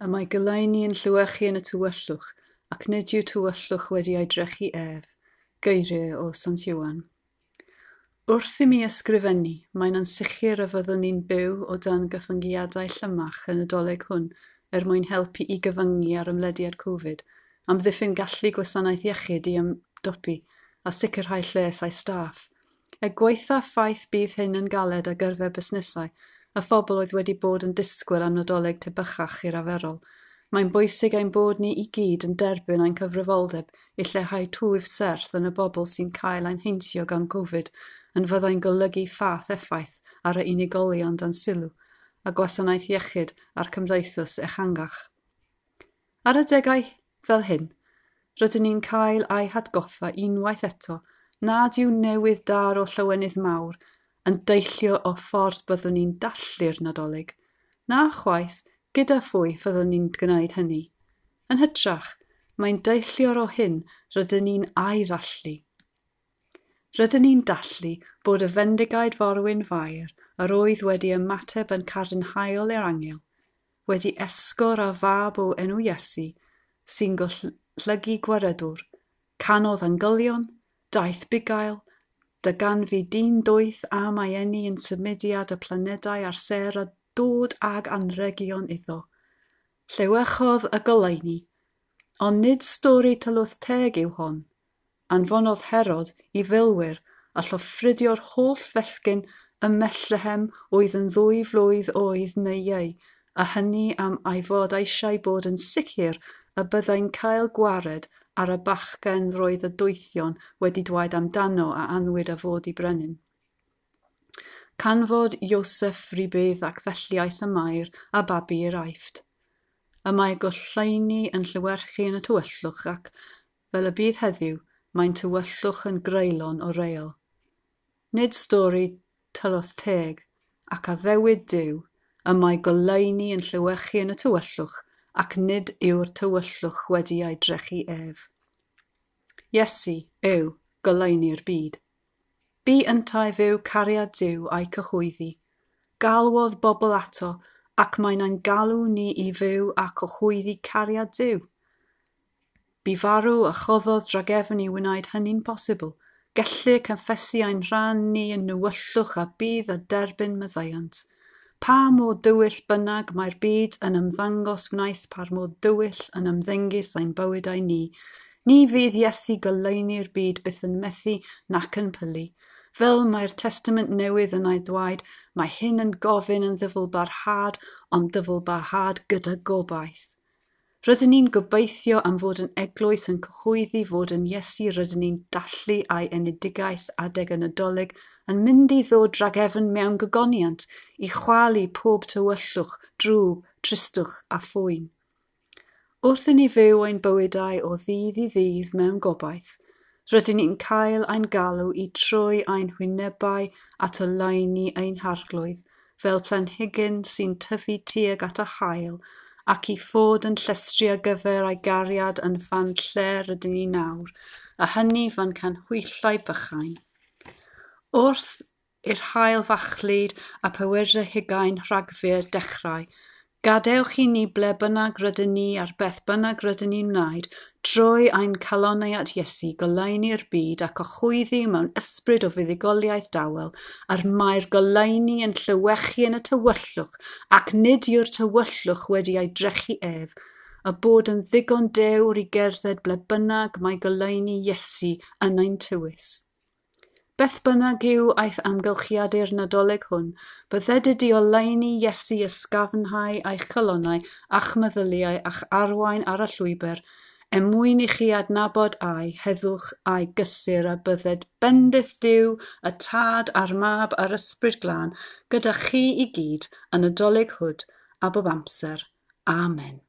Y mae goleuni yn llewychu yn y tywyllwch, ac nid yw tywyllwch wedi ei drechu ef. Geiriau o Sant Ioan. Wrth i mi ysgrifennu, mae'n ansicr y fyddwn ni'n byw o dan gyfyngiadau llymach y Nadolig hwn er mwyn helpu i gyfyngu ar ymlediad Covid, amddiffyn gallu gwasanaeth iechyd i ymdopi a sicrhau lles ei staff. Er gwaetha ffaith bydd hyn yn galed ar gyfer busnesau a phobl oedd wedi bod yn disgwyl am Nadolig tebycach i'r arferol, mae'n bwysig ein bod ni i gyd yn derbyn ein cyfrifoldeb i lleihau twf serth yn y bobl sy'n cael ein heintio gan Covid yn fyddai'n golygu fath effaith ar y unigolion dan sylw a gwasanaeth iechyd a'r cymdeithas ehangach. Ar adegau fel hyn, rydyn ni'n cael ei hatgoffa unwaith eto nad yw newydd dar o llawenydd mawr yn deillio o ffordd byddwn ni'n dathlu'r Nadolig, na chwaith gyda phwy fyddwn ni'n gwneud hynny. Yn hytrach, mae'n deillio o hyn rydyn ni'n ei ddathlu. Rydyn ni'n dathlu bod y fendigaid forwyn Fair yr oedd wedi ymateb yn cadarnhaol i'r angel, wedi esgor a fab o enw Iesu, sy'n golygu gwaredwr, canodd angylion, daeth bugail, darganfu dyn doeth am ei eni yn symudiad y planedau a'r sêr a dod ag anrhegion iddo. Llewychodd y goleuni, ond nid stori tylwyth teg yw hon. Anfonodd Herod i filwyr a lloffrydio'r holl fechgyn ym Methlehem oedd yn 2 flwydd oed neu iau, a hynny am ei fod eisiau bod yn sicr y byddai'n cael gwared ar y bachgen roedd y doethion wedi dweud amdano a anwyd a fod i brenin. Canfod Ioseph rybudd ac felly aeth y Mair a babi i'r Aifft. Y mae goleuni yn llewyrchu yn y tywyllwch ac, fel y bydd heddiw, mae'n tywyllwch yn greulon o reol. Nid stori tylwyth teg ac addewid Duw, y mae goleuni yn llewychu yn y tywyllwch ac nid yw'r tywyllwch wedi ei drechu ef. Iesu yw goleuni'r byd. Bu yntau fyw cariad Duw a'i cyhoeddi. Galwodd bobl ato ac mae'n ein galw ni i fyw a cyhoeddi cariad Duw. Bu farw a choddodd drachefn i wneud hynny'n posibl. Gellir cyffesu ein rhan ni yn nywyllwch a bydd a derbyn maddeuant. Pa mor dywyll bynnag mae'r byd yn ymddangos wnaeth par mor dywyll yn ymddengys ein bywydau ni. Ni fydd Iesu goleuni'r byd byth yn methu nac yn pylu. Fel mae'r Testament Newydd yn ei ddweud, mae hyn yn gofyn yn ddyfalbarhad, ond dyfalbarhad gyda gobaith. Rydyn ni'n gobeithio am fod yn eglwys yn cyhoeddi fod yn Iesu rydyn ni'n dathlu ei enedigaeth adeg y Nadolig yn mynd i ddod drachefn mewn gogoniant i chwalu pob tywyllwch, drwg, tristwch a phoen. Wrth i ni fyw ein bywydau o ddydd i ddydd mewn gobaith, rydyn ni'n cael ein galw i troi ein hwynebau at oleuni ein harglwydd fel planhigyn sy'n tyfu tuag at y haul ac i fod yn llestri ar gyfer ei gariad yn fan lle rydyn ni nawr, a hynny fan canhwyllau bychain. Wrth i'r haul fachlud a 24 Rhagfyr dechrau, gadewch i ni ble bynnag rydyn ni ar beth bynnag rydyn ni'n wneud, troi ein calonnau at Iesu, goleuni'r byd ac cyhoeddi mewn ysbryd o fuddugoliaeth dawel, a'r mae'r goleuni yn llewychu yn y tywyllwch, ac nid yw'r tywyllwch wedi ei drechu ef, a bod yn ddigon dewr i gerdded ble bynnag mae goleuni Iesu yn ein tywys. Beth bynnag yw eich amgylchiadau'r Nadolig hwn, bydded i oleuni Iesu ysgafnhau eich calonnau a'ch meddyliau a'ch arwain ar y llwybr, er mwyn i chi adnabod ei heddwch a'i gysur a bydded bendith Duw, y Tad a'r Mab a'r Ysbryd Glân gyda chi i gyd y Nadolig hwn a bob amser. Amen.